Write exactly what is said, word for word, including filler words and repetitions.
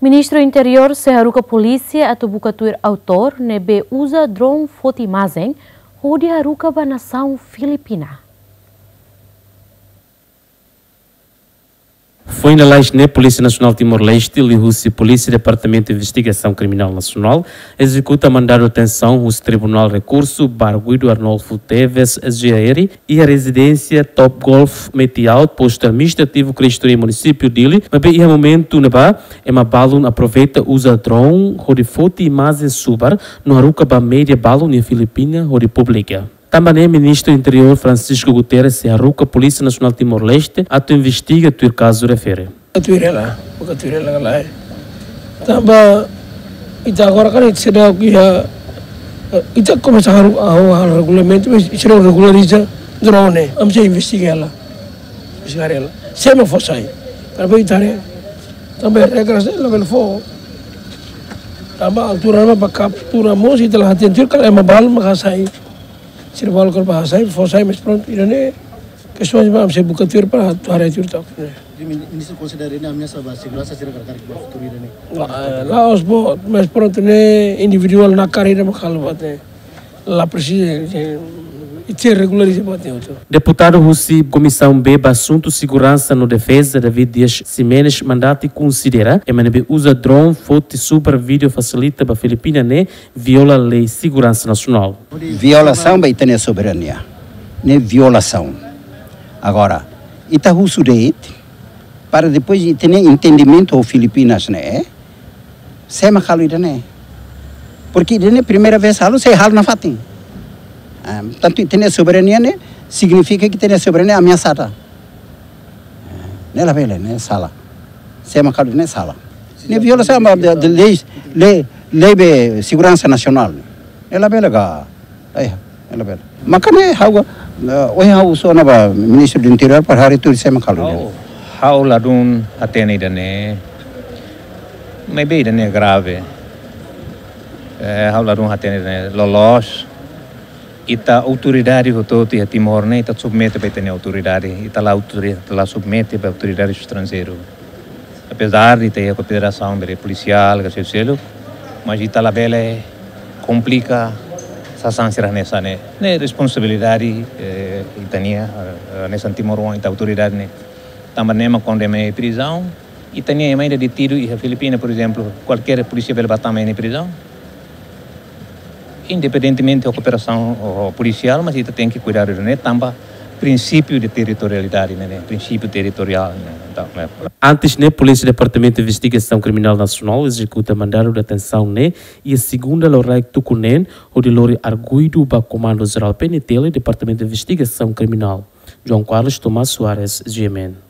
Ministru Interiór sei haruka polísia atu buka tuir autór ne'ebé uza drone foti imajen hodi haruka ba nasaun Filipina. Foin lalais ne'e, Polísia Nasionál Timor-Leste, liuhusi Polísia Departamentu Investigasaun Kriminál Nasionál, ezekuta mandadu detensaun husi Tribunál Rekursu ba arguidu Arnolfo Teves, S G A R, iha rezidénsia Top Golf Metiaut, postu administrativu Cristo Rei, munisípiu Dili, maibé iha momentu ne'ebá ema balun aproveita uza drone hodi foti imajen subar no haruka ba média balun iha Filipina hodi publika. Tanba ne'e, Ministru Interiór Francisco Guterres sei haruka Polísia Nasionál Timor-Leste atu investiga tuir kazu refere. Buka tuir hela, buka tuir hela ka lae. Tanba ita agora kan ita seidauk iha, ita komesa halo, halo, halo regulamentu, mas ita seidauk regulariza drone, ami sei investiga hela. Investiga hela. Sé mak fó sai. Tanba ita haree, tanba regras ne'e labele fó. Tanba altura ne'ebá ba kaptura mós ita la hatene tuir karik ema balun mak hasai. Sira balun kala ba hasai, fó sai, mas prontu, ida-ne'e kestaun ba ami sei buka tuir para atu haree tuir took ne'e. Jadi, min-, ministru konsidera ne'e ameasa ba seguransa sira karik-karik ba futuru ida-ne'e? Ah, la'ós boot, mas prontu, ne'e individuál nakar ida mak halo buat ne'e. La presiza, eh, ita regulariza buat ne'e hotu. Deputadu husi Komisaun B ba Asuntu Seguransa no Defeza, David Dias Ximenes, mandati konsidera ema ne'ebé uza drone foti subar vídeo fasilita ba Filipina ne'e viola lei seguransa nasionál. Violasaun ba ita-nia soberania. Ne'e violasaun. Agora, ita husu de'it, para depois ita-nia entendimentu ho Filipinas ne'e, sé mak halo ida-ne'e. Porque ida-ne'e primeira vez halo, sei halo nafatin. Ah, tantu ita-nia soberania ne'e, signifika ke ita-nia soberania ameasada. Ne'e labele, ne'e sala. Sé mak halo ne'e sala. Ne'e violasaun ba de, de lei, lei, lei be seguransa nasionál. Ne'e labele ka. Ai, ne'e labele. Maka ne'e ha'u, eh, ohin ha'u husu ona ba Ministru do Interiór para haree tuir sé mak halo. Ha'u, ha'u ladún hatene ida-ne'e. Maibé ida-ne'e grave. Eh, ha'u ladún hatene ida-ne'e loloos. Ita autoridade hotu-hotu iha Timor ne'e, ita submete ba ita-nia autoridade, ita la autori-, ita la submete ba autoridade estranjeiru. Apezar de ita iha kooperasaun be polisiál, ka selu-seluk, mas ita labele komplika sasán sira hanesan ne'e. Ne'e responsabilidade, eh, ita-nia, eh, hanesan timoroan, ita autoridade ne'e. Tanba ne'e mak kuandu ema iha prizaun, ita-nia ema ida detidu iha Filipina, por ezemplu, kualkér polísia bele ba tama iha nia prizaun. Independentemente ho kooperasaun, ho, ho polisiál, mas ita tenke kuidadu ne'e tanba prinsípiu de territorialidade ne'e, ne'e, prinsípiu territoriál ne'e. Entaun, ne'e. Antes ne'e, Polísia Departamentu Investigasaun Kriminál Nasionál ezekuta mandadu detensaun ne'e iha segunda loraik tuku neen, hodi lori arguidu ba Komandu Jerál P N T L, Departamentu Investigasaun Kriminál. João Carlos Tomás Soares, G M N.